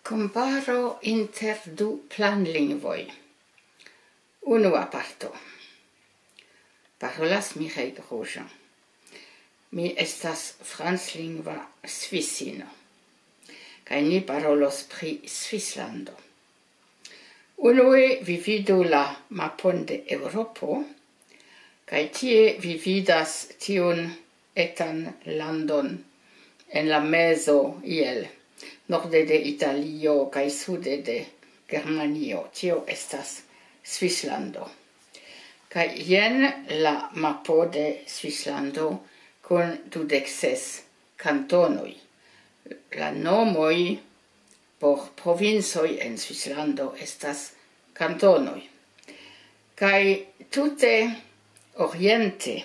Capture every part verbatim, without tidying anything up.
Komparo inter du planlingvoj. Unua parto. Parolas Mireille Grosjean. Mi estas franclingva svisino, kaj ni parolos pri Svislando. Unue vi vidu la mapon de Eŭropo, kaj tie vi vidas tiun etan landon en la mezo, iel norde de Italio kaj sude de Germanio. Tio estas Svislando. Kaj jen la mapo de Svislando kun dudek ses kantonoj. La nomoj por provincoj en Svislando estas kantonoj. Kaj tute oriente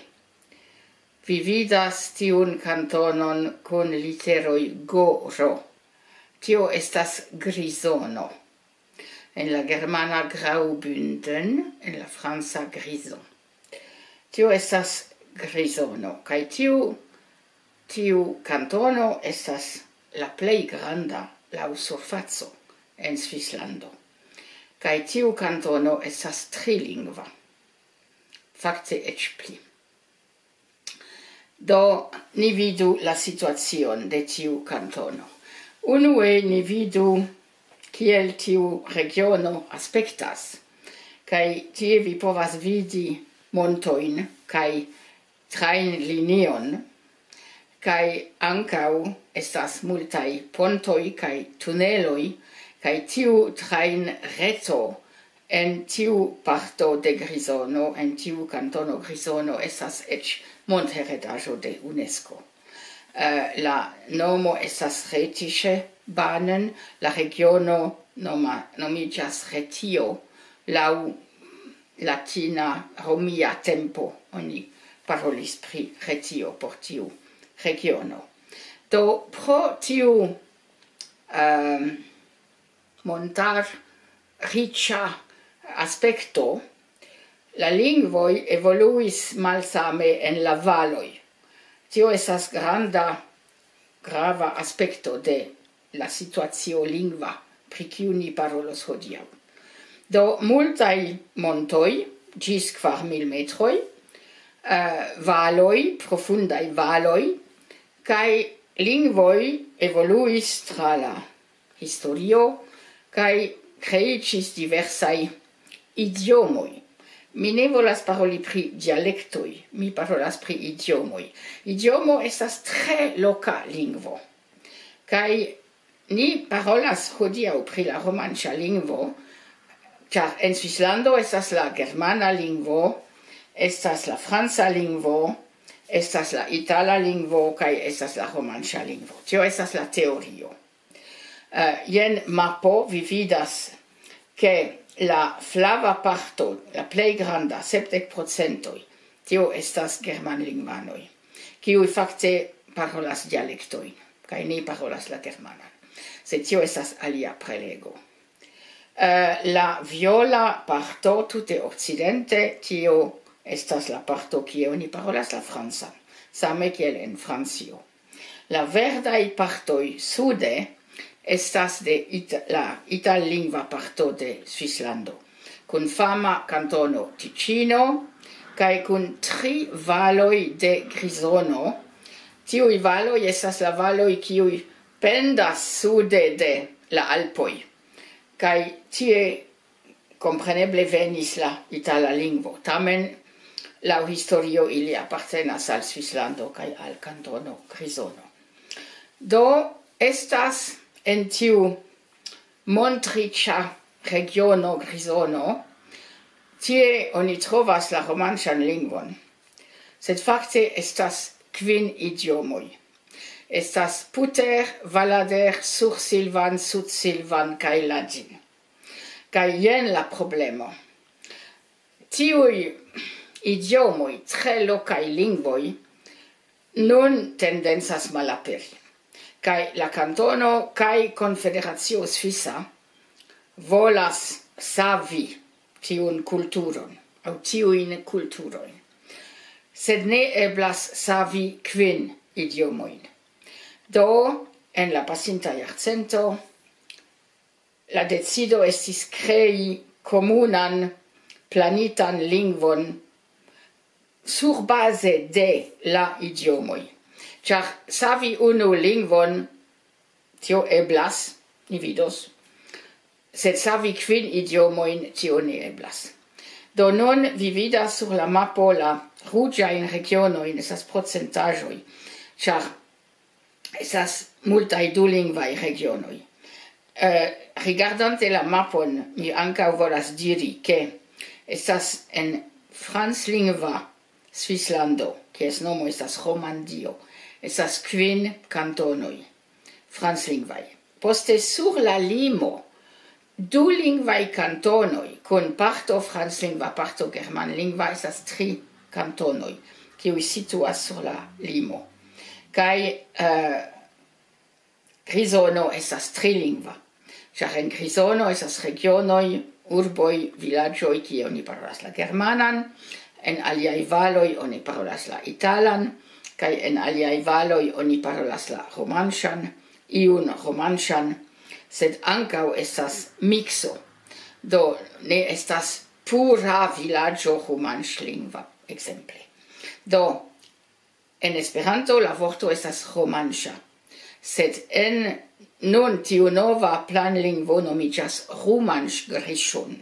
vi vidas tiun kantonon kun literoj G R. Tio estas Grizono. En la germana Graubünden, en la franca Grison. Tio estas Grizono, kaj tiu, tiu kantono estas la plej granda laŭ surfaco en Svislando. Kaj tiu kantono estas trilingva, fakte eĉ pli. Do, ni vidu la situacion de tiu kantono. Unue ni vidu, kiel tiu regiono aspektas. Kaj tie vi povas vidi montojn kaj trajnlinion, kaj ankaŭ estas multaj pontoj kaj tuneloj, kaj tiu trajnreto en tiu parto de Grizono, en tiu kantono Grizono, estas eĉ montheredaĵo de UNESCO. Eh, la nomo estas Rhetisch Bahnen, la regiono noma-, nomiĝas Retio, laŭ latina romia tempo oni parolis pri Retio por tiu regiono. Do pro tiu, ehm, montar riĉa aspekto, la lingvoj evoluis malsame en la valoj. Tio estas granda, grava aspekto de la situacio lingva, pri kiu ni parolos hodiaŭ. Do, multaj montoj, ĝis kvar mil metroj, eh, valoj, profundaj valoj, kaj lingvoj evoluis tra la historio, kaj kreiĝis diversaj idiomoj. Mi ne volas paroli pri dialektoj, mi parolas pri idiomoj. Idiomo estas tre loka lingvo. Kaj ni parolas hodiaŭ pri la romanĉa lingvo, ĉar en Svislando estas la germana lingvo, estas la franca lingvo, estas la itala lingvo, kaj estas la romanĉa lingvo. Tio estas la teorio. Eh, jen mapo, vi vidas, ke la flava parto, la plej granda, sepdek procentoj, tio estas germanlingvanoj, kiuj fakte parolas dialektojn, kaj ne parolas la germanan. Sed tio estas alia prelego. Eh, la viola parto tute okcidente, tio estas la parto, kie oni parolas la francan, same kiel en Francio. La verdaj partoj sude estas de it-, la itallingva parto de Svislando, kun fama kantono Ticino, kaj kun tri valoj de Grizono. Tiuj valoj estas la valoj, kiuj pendas sude de la Alpoj. Kaj tie kompreneble venis la itala lingvo. Tamen, laŭ historio, ili apartenas al Svislando kaj al kantono Grizono. Do, estas en tiu montriĉa regiono Grizono, tie oni trovas la romanĉan lingvon. Sed fakte estas kvin idiomoj. Estas Puter, Valader, Sursilvan, Sudsilvan kaj Ladin. Kaj jen la problemo. Tiuj idiomoj, tre lokaj lingvoj, nun tendencas malaperi. Kaj la kantono kaj Konfederacio Svisa volas savi tiun kulturon, aŭ tiujn kulturojn. Sed ne eblas savi kvin idiomojn. Do, en la pasinta jarcento, la decido estis krei komunan planitan lingvon surbaze de la idiomoj. Ĉar savi unu lingvon, tio eblas, ni vidos, sed savi kvin idiomojn, tio ne eblas. Do nun vi vidas sur la mapo la ruĝajn regionojn, estas procentaĵoj, ĉar estas multaj dulingvaj regionoj. Eh, rigardante la mapon, mi ankaŭ volas diri, ke estas en franclingva Svislando, kies nomo estas Romandio, estas kvin kantonoj franclingvaj. Poste sur la limo dulingvaj kantonoj kun parto franclingva, parto germanlingva, estas tri kantonoj, kiuj situas sur la limo. Kaj, eh, Grizono estas trilingva, ĉar en Grizono estas regionoj, urboj, vilaĝoj, kie oni parolas la germanan, en aliaj valoj oni parolas la italan, kaj en aliaj valoj oni parolas la romanŝan, iun romanŝan, sed ankaŭ estas mikso. Do ne estas pura vilaĝo romanŝlingva, ekzemple. Do, en Esperanto la vorto estas romanŝa, sed en nun tiu nova planlingvo nomiĝas Rumansch-Grischun.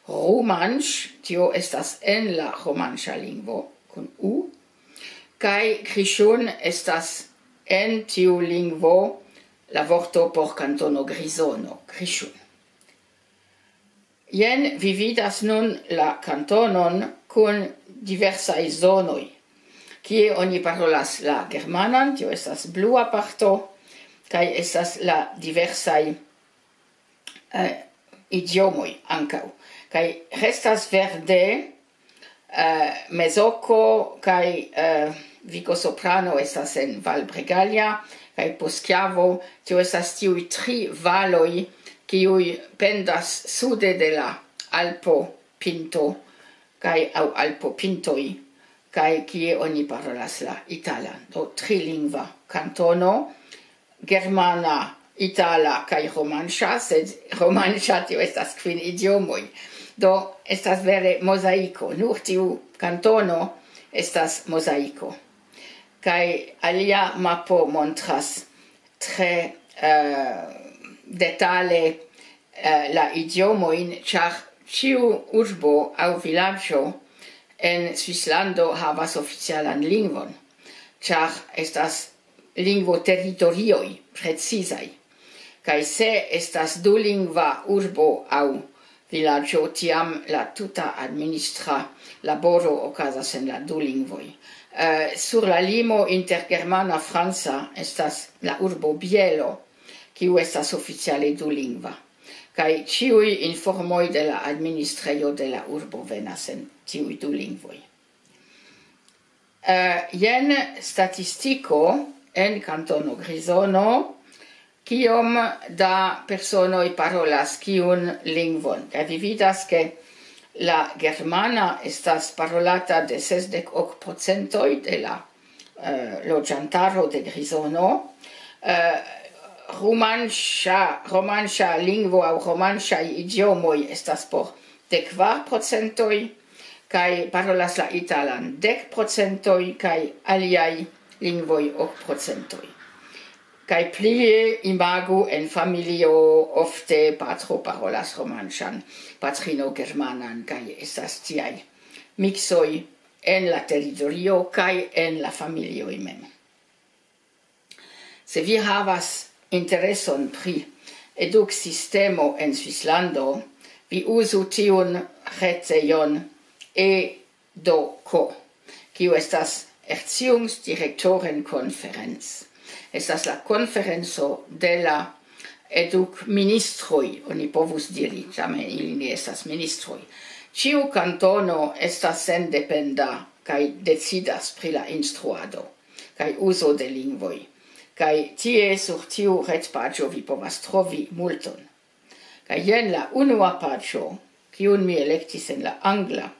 Rumansch, tio estas en la romanŝa lingvo kun U, kaj Grischun estas en tiu lingvo la vorto por kantono Grizono, Grischun. Jen vi vidas nun la kantonon kun diversaj zonoj, kie oni parolas la germanan, tio estas blua parto, kaj estas la diversaj, eh, idiomoj ankaŭ. Kaj restas verde, eh, Mezoko kaj, eh, Vico Soprano estas en Val Bregaglia, kaj Poschiavo, tio estas tiuj tri valoj, kiuj pendas sude de la Alpo Pinto, kaj aŭ Alpo Pintoj, kaj kie oni parolas la italan. Do, trilingva kantono, germana, itala kaj romanŝa, sed romanŝa, tio estas kvin idiomoj. Do, estas vere mozaiko. Nur tiu kantono estas mozaiko. Kaj alia mapo montras tre, eh, detale, eh, la idiomojn, ĉar ĉiu urbo aŭ vilaĝo en Svislando havas oficialan lingvon, ĉar estas lingvoteritorioj precizaj. Kaj se estas dulingva urbo aŭ vilaĝo, tiam la tuta administra laboro okazas en la du lingvoj. Eh, sur la limo inter germana franca estas la urbo Bielo, kiu estas oficiale dulingva. Kaj ĉiuj informoj de la administrejo de la urbo venas en tiuj du lingvoj. Eh, jen statistiko en kantono Grizono, kiom da personoj parolas kiun lingvon. Kaj vi vidas, ke la germana estas parolata de sesdek ok procentoj de la, eh, loĝantaro de Grizono. Eh, rumanŝa, romanŝa lingvo aŭ romanŝaj idiomoj estas por dekvar procentoj, kaj parolas la italan dek procentoj, kaj aliaj lingvoj ok procentoj. Kaj plie imagu en familio, ofte patro parolas romanŝan, patrino germanan, kaj estas tiaj miksoj en la teritorio kaj en la familioj mem. Se vi havas intereson pri eduksistemo en Svislando, vi uzu tiun retejon e do ko, kiu estas Erziehungsdirektorenkonferenz. Estas la konferenco de la edukministroj, oni povus diri, tamen ili ne estas ministroj. Ĉiu kantono estas sendependa kaj decidas pri la instruado kaj uzo de lingvoj. Kaj tie sur tiu retpaĝo vi povas trovi multon. Kaj jen la unua paĝo, kiun mi elektis en la angla.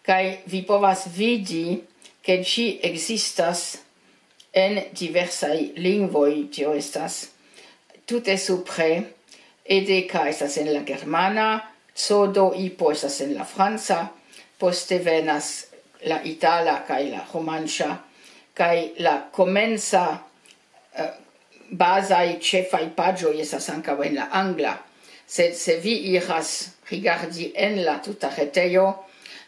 Kaj vi povas vidi, ke ĝi ekzistas en diversaj lingvoj, tio estas tute supre, Edeka estas en la germana, Codo Ipo estas en la franca, poste venas la itala kaj la romanĉa, kaj la komenca, eh, bazaj ĉefaj paĝoj estas ankaŭ en la angla. Sed se vi iras rigardi en la tuta retejo,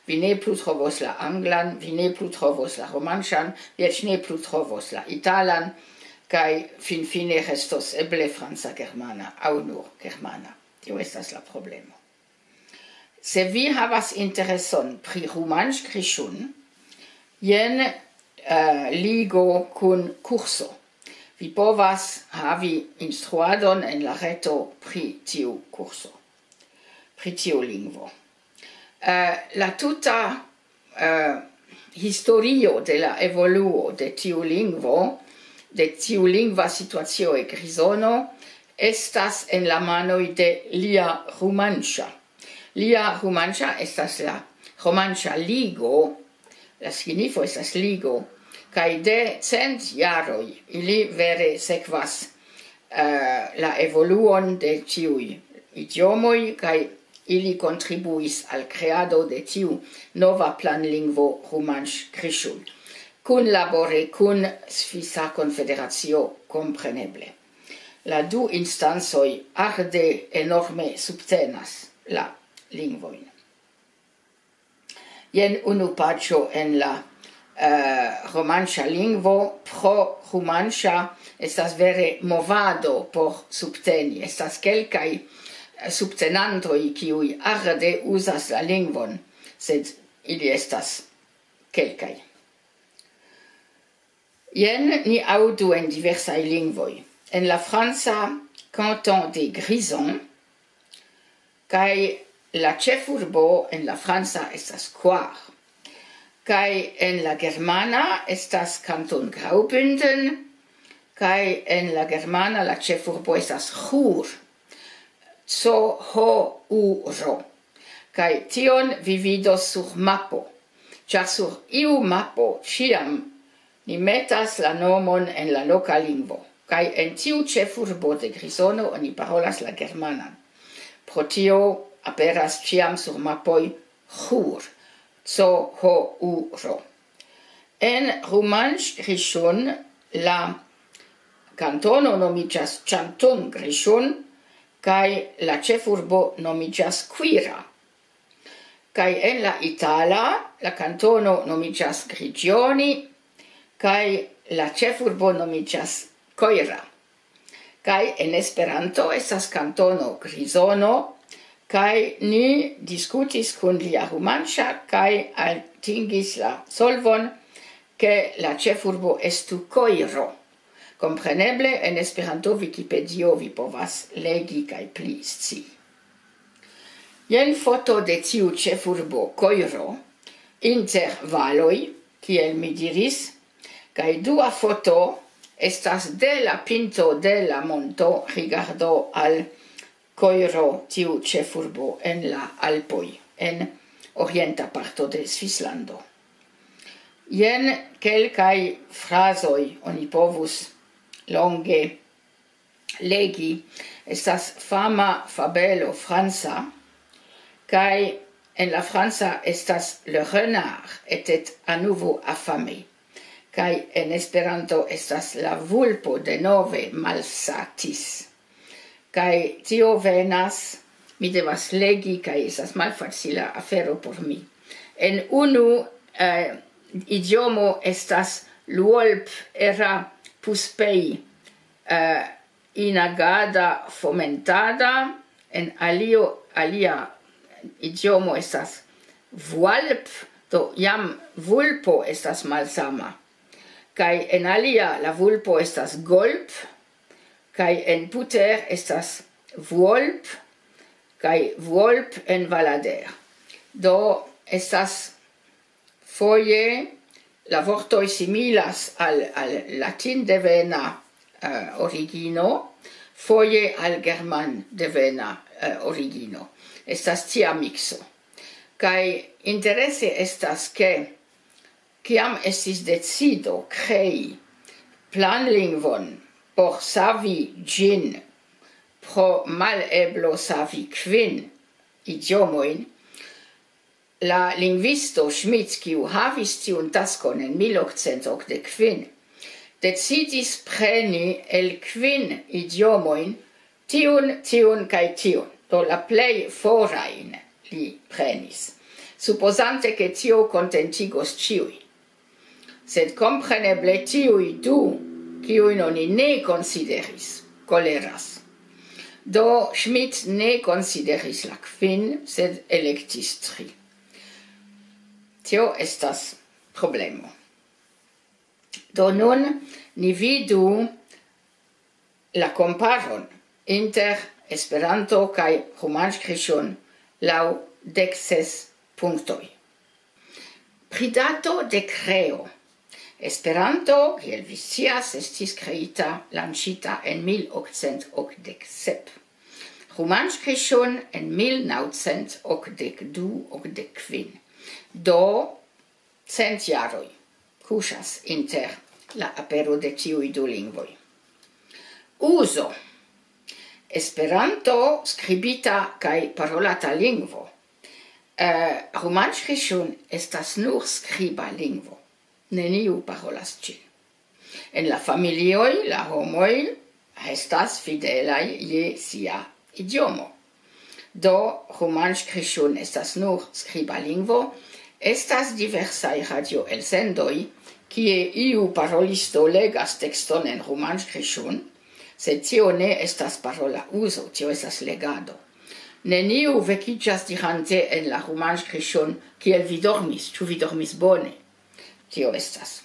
vi ne plu trovos la anglan, vi ne plu trovos la romanĉan, vi eĉ ne plu trovos la italan, kaj finfine restos eble franca germana aŭ nur germana. Tio estas la problemo. Se vi havas intereson pri Rumansch Grischun, jen, eh, ligo kun kurso. Vi povas havi instruadon en la reto pri tiu kurso, pri tiu lingvo. Eh, la tuta, eh, historio de la evoluo de tiu lingvo, de tiu lingva situacio en Grizono, estas en la manoj de Lia Rumanŝa. Lia Rumanŝa estas la Romanŝa Ligo, la signifo estas ligo, kaj de cent jaroj ili vere sekvas, eh, la evoluon de tiuj idiomoj, kaj ili kontribuis al kreado de tiu nova planlingvo Rumansch Grischun, kunlabore kun Svisa Konfederacio, kompreneble. La du instancoj arde enorme subtenas la lingvojn. Jen unu paĝo en la, eh, romanŝa lingvo. Pro Rumanŝa estas vere movado por subteni. Estas kelkaj, eh, subtenantoj, kiuj arde uzas la lingvon, sed ili estas kelkaj. Jen ni aŭdu en diversaj lingvoj. En la franca, Canton de Grison, kaj la ĉefurbo en la franca estas Coire. Kaj en la germana estas Kanton Graubünden, kaj en la germana la ĉefurbo estas Chur, co ho u ro. Kaj tion vi vidos sur mapo, ĉar sur iu mapo ĉiam ni metas la nomon en la loka lingvo. Kaj en tiu ĉefurbo de Grizono oni parolas la germanan. Pro tio aperas ĉiam sur mapoj Chur, co ho u ro. En Rumansch Grischun la kantono nomiĝas Canton Grischun, kaj la ĉefurbo nomiĝas Cuira. Kaj en la itala la kantono nomiĝas Grigioni, kaj la ĉefurbo nomiĝas Coira. Kaj en Esperanto estas kantono Grizono, kaj ni diskutis kun Lia Rumanŝa kaj atingis la solvon, ke la ĉefurbo estu Coiro. Kompreneble en Esperanto Wikipedio vi povas legi kaj pli scii. Jen foto de tiu ĉefurbo Coiro, inter valoj, kiel mi diris, kaj dua foto estas de la pinto de la monto rigardo al Coiro, tiu ĉefurbo en la Alpoj, en orienta parto de Svislando. Jen kelkaj frazoj, oni povus longe legi. Estas fama fabelo franca, kaj en la franca estas le renard était à nouveau affamé, kaj en Esperanto estas la vulpo denove malsatis. Kaj tio venas, mi devas legi, kaj estas malfacila afero por mi. En unu, eh, idiomo estas l'uolp era puspei, eh, inagada fomentada, en alio, alia idiomo estas vualp, do jam vulpo estas malsama. Kaj en alia la vulpo estas golp, kaj en puter estas vuolp, kaj vuolp en valader. Do estas foje la vortoj similas al, al latindevena, eh, origino, foje al germandevena, eh, origino. Estas tia mikso. Kaj interese estas, ke kiam estis decido krei planlingvon por savi ĝin Pro maleblo savi kvin idiomojn, la lingvisto Schmidt, kiu havis tiun taskon en mil okcent okdek kvin, decidis preni el kvin idiomojn tiun, tiun kaj tiun. Do la plej forajn li prenis, supozante, ke tio kontentigos ĉiuj. Sed kompreneble tiuj du, kiujn oni ne konsideris, koleras. Do Schmidt ne konsideris la kvin, sed elektis tri. Tio estas problemo. Do nun ni vidu la komparon inter Esperanto kaj Romanĉkriŝon laŭ dekses punktoj. Pri dato de kreo. Esperanto, kiel vi scias, estis kreita, lanĉita en mil okcent okdek sep. Romanĉkriŝon en mil naŭcent okdek du okdek kvin. Do, cent jaroj kuŝas inter la apero de tiuj du lingvoj. Uzo. Esperanto, skribita kaj parolata lingvo. Eh, Romanĉkriŝon estas nur skriba lingvo. Neniu parolas ĝin. En la familioj la homoj estas fidelaj je sia idiomo. Do, Romanĉkriŝon estas nur skriba lingvo. Estas diversaj radioelsendoj, kie iu parolisto legas tekston en Romanĉkriŝon, sed tio ne estas parola uzo, tio estas legado. Neniu vekiĝas dirante en la Romanĉkriŝon: "Kiel vi dormis? Ĉu vi dormis bone?" Tio estas.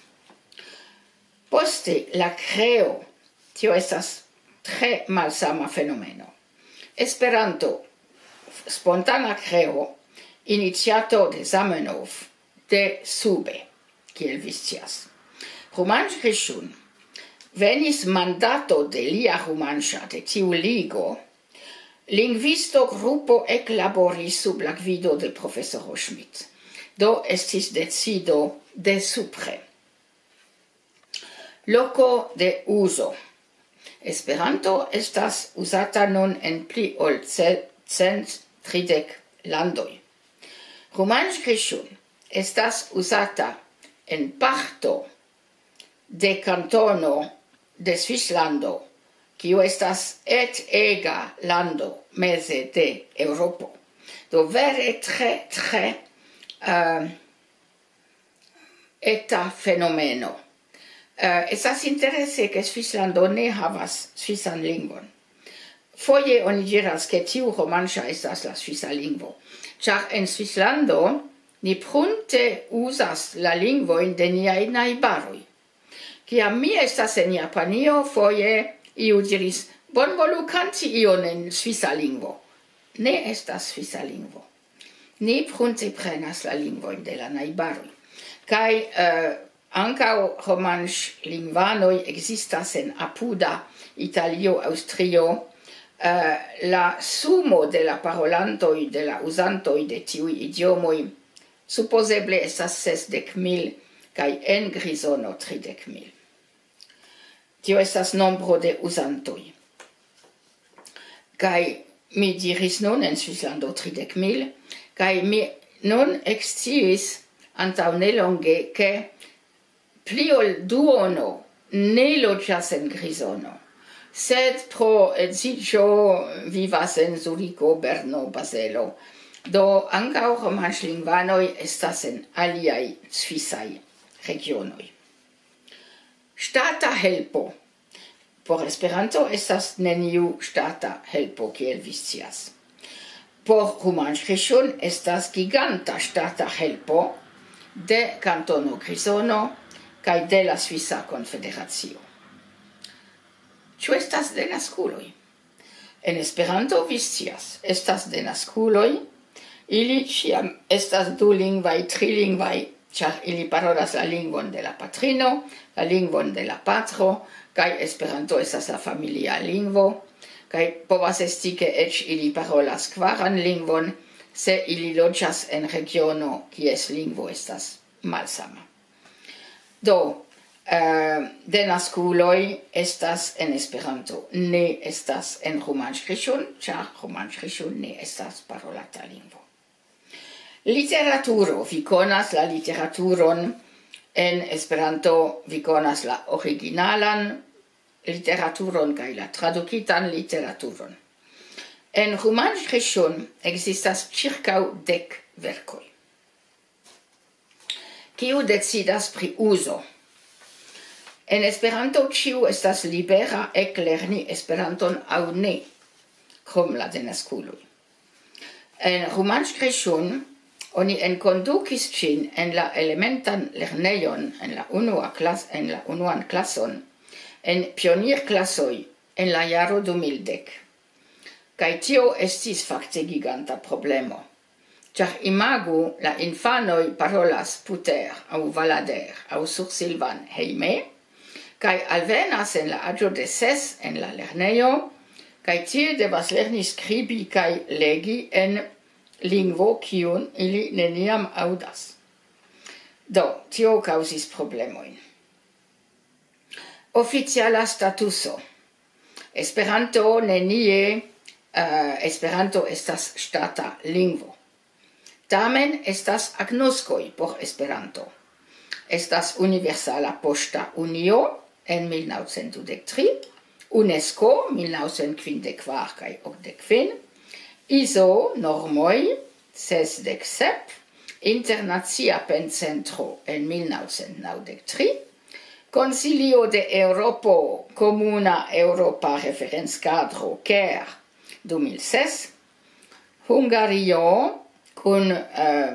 Poste, la kreo. Tio estas tre malsama fenomeno. Esperanto, spontana kreo, iniciato de Zamenhof, de sube, kiel vi scias. Romanĉkriŝon, venis mandato de lia Romanĉa, de tiu ligo, lingvisto grupo eklaboris sub la gvido de profesoro Schmidt. Do estis decido de supre. Loko de uzo. Esperanto estas uzata nun en pli ol ce-, cent tridek landoj. Romanĉkriŝon estas uzata en parto de kantono de Svislando, kiu estas et ega lando meze de Eŭropo. Do vere tre, tre, eh, eta fenomeno. Eh, estas interese, ke Svislando ne havas svisan lingvon. Foje oni diras, ke tiu Romanĉa estas la svisa lingvo, ĉar en Svislando ni prunte uzas la lingvojn de niaj najbaroj. Kiam mi estas en Japanio, foje iu diris: "Bonvolu kanti ion en svisa lingvo." Ne estas svisa lingvo. Ni prunte prenas la lingvojn de la najbaroj. Kaj, eh, ankaŭ romanĉlingvanoj ekzistas en apuda Italio, Aŭstrio. Eh, la sumo de la parolantoj, de la uzantoj de tiuj idiomoj, supozeble estas sesdek mil, kaj en Grizono tridek mil. Tio estas nombro de uzantoj. Kaj mi diris nun en Svislando tridek mil, kaj mi nun eksciis antaŭ nelonge, ke pli ol duono ne loĝas en Grizono, sed pro edziĝo vivas en Zuriko, Berno, Bazelo. Do ankaŭ romanĉlingvanoj estas en aliaj svisaj regionoj. Ŝtata helpo. Por Esperanto estas neniu ŝtata helpo, kiel vi scias. Por Romanĉkriŝon estas giganta ŝtata helpo de Kantono Grizono kaj de la Svisa Konfederacio. Ĉu estas denaskuloj? En Esperanto, vi scias, estas denaskuloj. Ili ĉiam estas dulingvaj, trilingvaj, ĉar ili parolas la lingvon de la patrino, la lingvon de la patro, kaj Esperanto estas la familia lingvo, kaj povas esti, ke eĉ ili parolas kvaran lingvon, se ili loĝas en regiono, kies lingvo estas malsama. Do, Eh, denaskuloj estas en Esperanto, ne estas en Romanskriŝun, ĉar Romanskriŝun ne estas parolata lingvo. Literaturo, vi konas la literaturon en Esperanto, vi konas la originalan literaturon kaj la tradukitan literaturon. En Romanskriŝun ekzistas ĉirkaŭ dek verkoj. Kiu decidas pri uzo? En Esperanto ĉiu estas libera eklerni Esperanton aŭ ne, krom la denaskuloj. En Romanskriŝun oni enkondukis ĝin en la elementan lernejon, en la unua klas-, en la unuan klason, en pionirklasoj en la jaro du mil dek. Kaj tio estis fakte giganta problemo. Ĉar imagu, la infanoj parolas puter aŭ valader aŭ sursilvan hejme, kaj alvenas en la aĝo de ses en la lernejo, kaj tie devas lerni skribi kaj legi en lingvo, kiun ili neniam aŭdas. Do, tio kaŭzis problemojn. Oficiala statuso. Esperanto nenie, eh, Esperanto estas ŝtata lingvo. Tamen estas agnoskoj por Esperanto. Estas Universala Poŝta Unio en mil naŭcent dudek tri, UNESCO mil naŭcent kvindek kvar kaj okdek kvin, iso normoj sesdek sep, Internacia Pencentro en mil naŭcent naŭdek tri, Konsilio de Eŭropo, Komuna Eŭropa Referencadro, ker, du mil ses, Hungario kun, eh,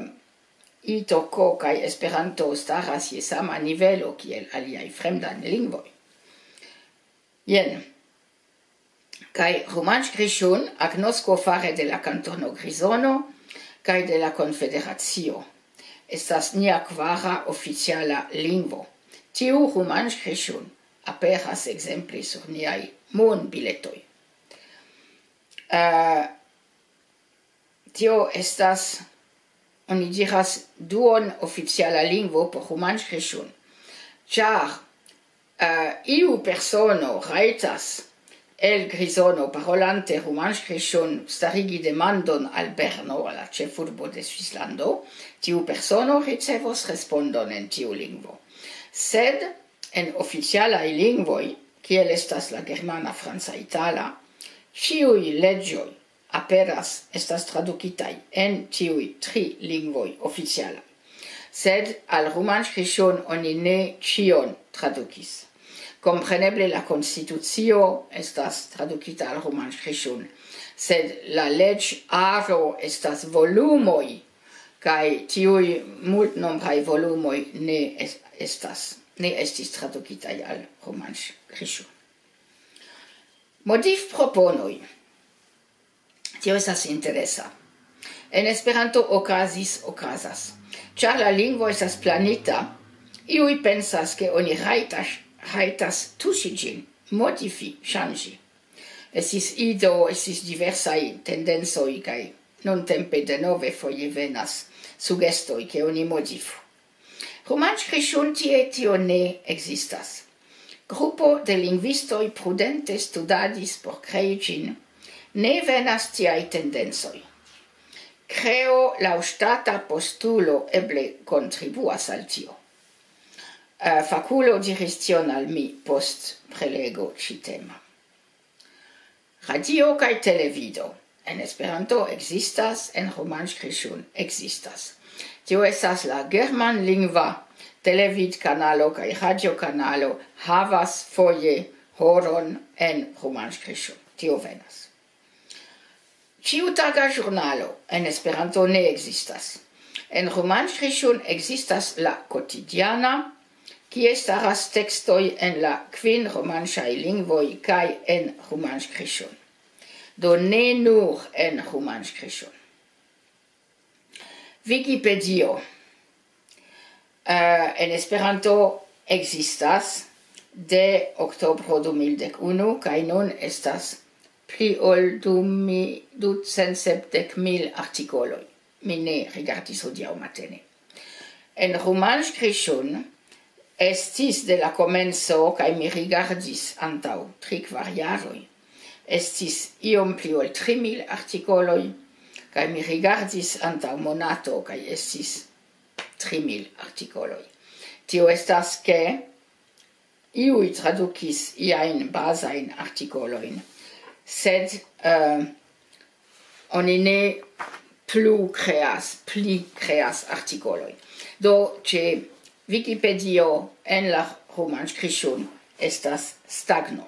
Itoko kaj Esperanto staras je sama nivelo kiel aliaj fremdaj lingvoj. Jen. Kaj Romanskriŝun, agnosko fare de la kantono Grizono kaj de la Konfederacio, estas nia kvara oficiala lingvo. Tiu Romanskriŝun aperas ekzemple sur niaj monbiletoj. Eh, tio estas, oni diras, duon oficiala lingvo por Romanskriŝun. Ĉar, eh, iu persono rajtas el Grizono, parolante Romanskriŝun, starigi demandon al Berno, al la ĉefurbo de Svislando, tiu persono ricevos respondon en tiu lingvo. Sed en oficialaj lingvoj, kiel estas la germana, franca, itala, ĉiuj leĝoj aperas, estas tradukitaj en tiuj tri lingvoj oficialaj. Sed al Romanskriŝun oni ne ĉion tradukis. Kompreneble la konstitucio estas tradukita al Romanskriŝun, sed la leĝaro estas volumoj, kaj tiuj multnombraj volumoj ne es-, estas, ne estis tradukitaj al Romanskriŝun. Modifproponoj. Tio estas interesa. En Esperanto okazis, okazas. Ĉar la lingvo estas planita, iuj pensas, ke oni rajtas, rajtas tuŝi ĝin, modifi, ŝanĝi. Estis ido, estis diversaj tendencoj, kaj nuntempe denove foje venas sugestoj, ke oni modifu. Romanskriŝun tie tio ne ekzistas. Grupo de lingvistoj prudente studadis por krei ĝin. Ne venas tiaj tendencoj. Kreo laŭ ŝtata postulo eble kontribuas al tio. Eh, fakulo diris tion al mi post prelego ĉi tema. Radio kaj televido. En Esperanto ekzistas, en Romanskriŝun ekzistas. Tio estas la germanlingva televidkanalo kaj radiokanalo, havas foje horon en Romanskriŝun. Tio venas. Ĉiutaga ĵurnalo en Esperanto ne ekzistas. En Romanskriŝun ekzistas la Kotidiana, kie staras tekstoj en la kvin romanŝaj lingvoj kaj en Romanskriŝun. Do ne nur en Romanskriŝun. Wikipedio, eh, en Esperanto ekzistas de oktobro du mil dek unu, kaj nun estas pli ol du mi-, ducent sepdek mil artikoloj. Mi ne rigardis hodiaŭ matene. En Romanskriŝun estis de la komenco, kaj mi rigardis antaŭ tri, kvar jaroj, estis iom pli ol tri mil artikoloj, kaj mi rigardis antaŭ monato, kaj estis tri mil artikoloj. Tio estas, ke iuj tradukis iajn bazajn artikolojn, sed, eh, oni ne plu kreas, pli kreas artikolojn. Do, ĉe Wikipedio en la Romanskriŝun estas stagno.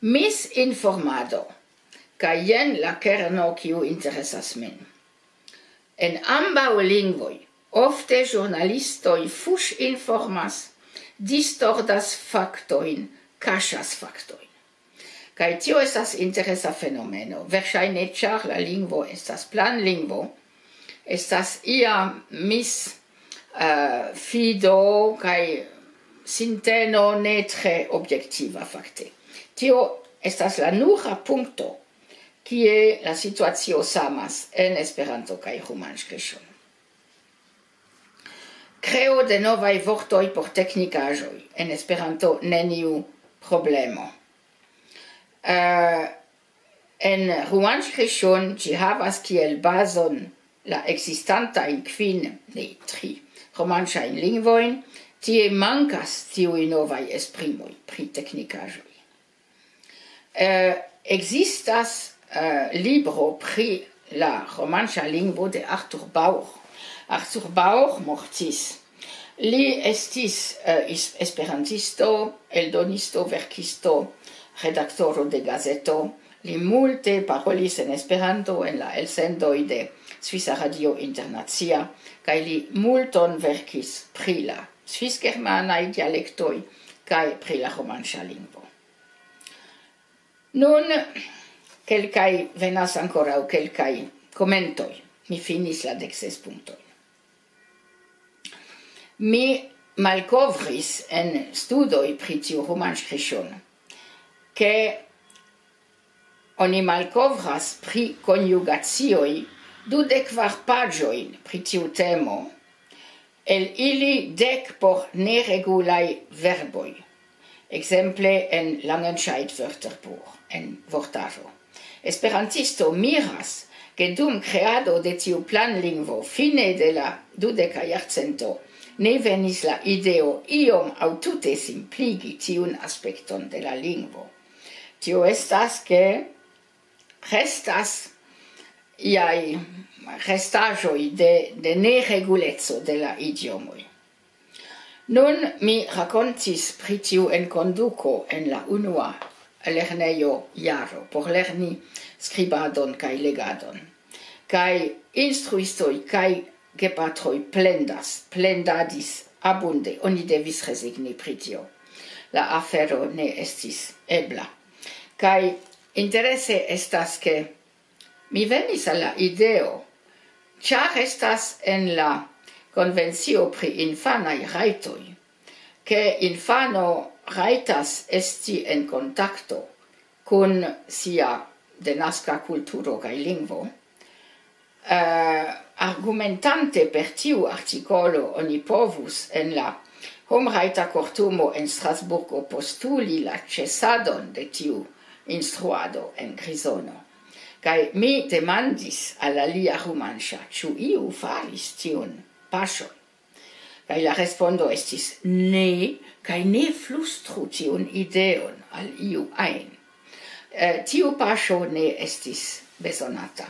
Misinformado, kaj jen la kerno, kiu interesas min. En ambaŭ lingvoj ofte ĵurnalistoj fuŝinformas, distordas faktojn, kaŝas faktojn. Kaj tio estas interesa fenomeno. Verŝajne, ĉar la lingvo estas planlingvo, estas ia mis, eh, fido kaj sinteno ne tre objektiva fakte. Tio estas la nura punkto, kie la situacio samas en Esperanto kaj Romanskriŝun. Kreo de novaj vortoj por teknikaĵoj. En Esperanto neniu problemo. Eh, en Romanskriŝun ĝi havas kiel bazon la ekzistantajn kvin, ne, tri romanŝajn lingvojn, tie mankas tiuj novaj esprimoj pri teknikaĵoj. Eh, ekzistas, eh, libro pri la romanŝa lingvo de Arthur Bauer. Arthur Bauer mortis. Li estis, eh, is-, esperantisto, eldonisto, verkisto, redaktoro de gazeto. Li multe parolis en Esperanto en la elsendoj de Svisa Radio Internacia, kaj li multon verkis pri la svisgermanaj dialektoj kaj pri la romanŝa lingvo. Nun kelkaj, venas ankoraŭ kelkaj komentoj. Mi finis la dek ses punktojn. Mi malkovris en studoj pri tiu Romanskriŝun, ke oni malkovras pri konjugacioj dudek kvar paĝojn pri tiu temo, el ili dek por neregulaj verboj, ekzemple en Langenscheid Wörterbuch, en vortaro. Esperantisto miras, ke dum kreado de tiu planlingvo fine de la dudeka jarcento ne venis la ideo iom aŭ tute simpligi tiun aspekton de la lingvo. Tio estas, ke restas iaj restaĵoj de, de nereguleco de la idiomoj. Nun mi rakontis pri tiu enkonduko en la unua lernejo jaro por lerni skribadon kaj legadon. Kaj instruistoj kaj gepatroj plendas, plendadis abunde, oni devis rezigni pri tio. La afero ne estis ebla. Kaj interese estas, ke mi venis al la ideo, ĉar estas en la Konvencio pri Infanaj Rajtoj, ke infano rajtas esti en kontakto kun sia denaska kulturo kaj lingvo, eh, argumentante per tiu artikolo, oni povus en la Homrajta Kortumo en Strasburgo postuli la ĉesadon de tiu instruado en Grizono. Kaj mi demandis al alia Rumanŝa, ĉu iu faris tiun paŝon. Kaj la respondo estis: "Ne, kaj ne flustru tiun ideon al iu ajn." Eh, tiu paŝo ne estis bezonata,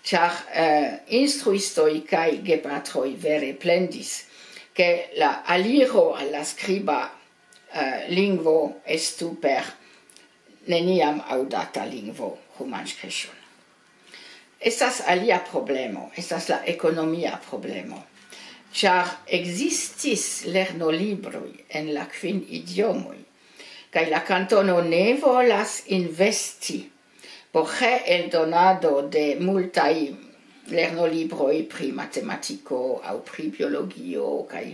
ĉar, eh, instruistoj kaj gepatroj vere plendis, ke la aliro al la skriba, eh, lingvo estu per neniam aŭdata lingvo, Romanskriŝun. Estas alia problemo, estas la ekonomia problemo, ĉar ekzistis lernolibroj en la kvin idiomoj, kaj la kantono ne volas investi por reeldonado de multaj lernolibroj pri matematiko aŭ pri biologio kaj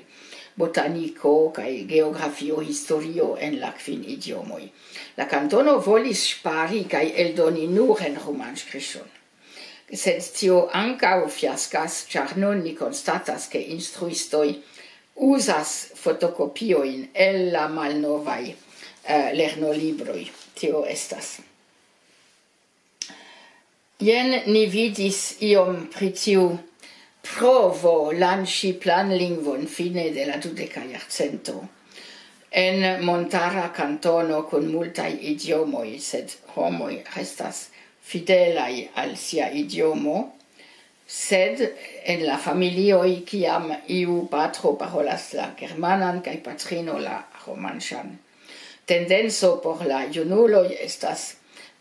botaniko kaj geografio, historio en la kvin idiomoj. La kantono volis ŝpari kaj eldoni nur en Romanskriŝun. Sed tio ankaŭ fiaskas, ĉar nun ni konstatas, ke instruistoj uzas fotokopiojn el la malnovaj eh, lernolibroj. Tio estas. Jen ni vidis iom pri tiu provo lanĉi planlingvon fine de la dudeka jarcento en montara kantono kun multaj idiomoj, sed homoj restas fidelaj al sia idiomo, sed en la familioj, kiam iu patro parolas la germanan kaj patrino la romanĉan, tendenco por la junuloj estas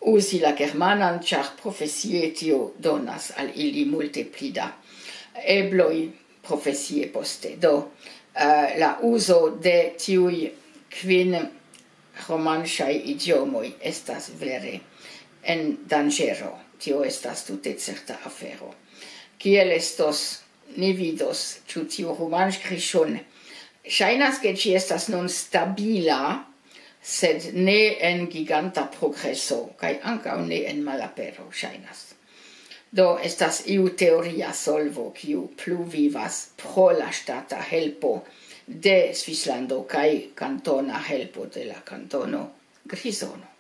uzi la germanan, ĉar profesie tio donas al ili multe pli da ebloj profesie poste. Do, eh, la uzo de tiuj kvin romanĉaj idiomoj estas vere en danĝero. Tio estas tute certa afero. Kiel estos, ni vidos, ĉu tiu romanĉkriŝun. Ŝajnas, ke ĝi estas nun stabila, sed ne en giganta progreso, kaj ankaŭ ne en malapero, ŝajnas. Do estas iu teoria solvo, kiu plu vivas pro la ŝtata helpo de Svislando kaj kantona helpo de la kantono Grizono.